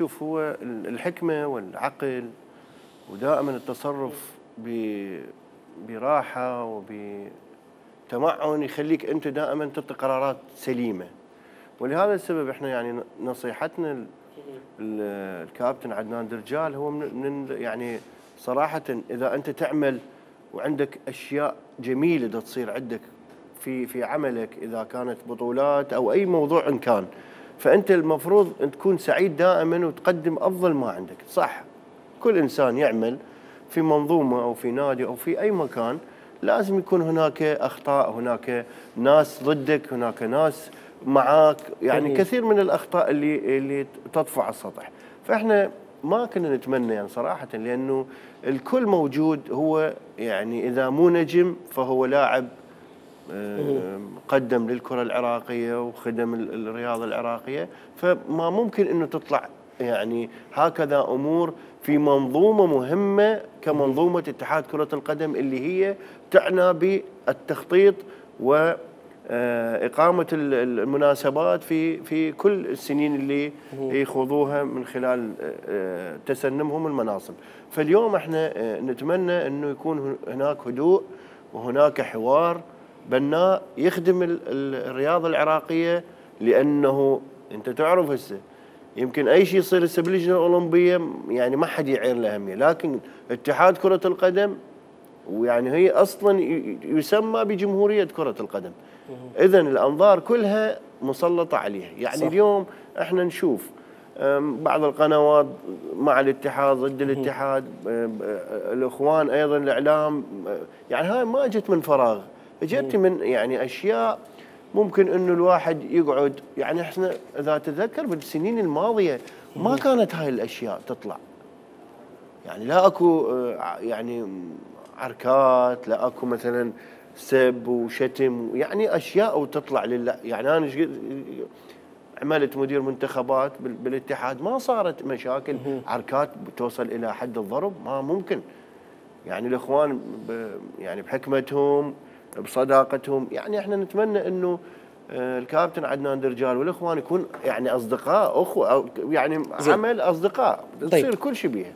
شوف هو الحكمة والعقل ودائما التصرف براحة وبتمعن يخليك أنت دائما تعطي قرارات سليمة. ولهذا السبب احنا يعني نصيحتنا الكابتن عدنان درجال هو من يعني صراحة إذا أنت تعمل وعندك أشياء جميلة دا تصير عندك في عملك، إذا كانت بطولات أو أي موضوع إن كان، فأنت المفروض أن تكون سعيد دائما وتقدم أفضل ما عندك. صح كل إنسان يعمل في منظومة أو في نادي أو في أي مكان لازم يكون هناك أخطاء، هناك ناس ضدك، هناك ناس معاك، يعني كثير من الأخطاء اللي تطفو على السطح. فإحنا ما كنا نتمنى يعني صراحة، لأنه الكل موجود. هو يعني إذا مو نجم فهو لاعب قدم للكرة العراقية وخدم الرياضة العراقية، فما ممكن أنه تطلع يعني هكذا أمور في منظومة مهمة كمنظومة اتحاد كرة القدم اللي هي تعنى بالتخطيط وإقامة المناسبات في كل السنين اللي يخوضوها من خلال تسنمهم المناصب. فاليوم احنا نتمنى أنه يكون هناك هدوء وهناك حوار بناء يخدم الرياضة العراقية، لأنه أنت تعرف هسه يمكن أي شيء يصير هسه باللجنة الأولمبية يعني ما حد يعير له أهمية، لكن اتحاد كرة القدم ويعني هي أصلا يسمى بجمهورية كرة القدم، إذن الأنظار كلها مسلطة عليها. يعني صح. اليوم احنا نشوف بعض القنوات مع الاتحاد ضد الاتحاد، الإخوان أيضا الإعلام، يعني هاي ما جت من فراغ، جت من يعني أشياء ممكن انه الواحد يقعد. يعني احنا اذا تذكر بالسنين الماضيه ما كانت هاي الاشياء تطلع، يعني لا اكو يعني عركات، لا اكو مثلا سب وشتم، يعني اشياء وتطلع لله. يعني انا عملت مدير منتخبات بالاتحاد ما صارت مشاكل عركات توصل الى حد الضرب، ما ممكن. يعني الاخوان يعني بحكمتهم بصداقتهم، يعني احنا نتمنى انه الكابتن عدنان درجال والاخوان يكون يعني اصدقاء اخوه، يعني عمل اصدقاء تصير كل شيء بيها.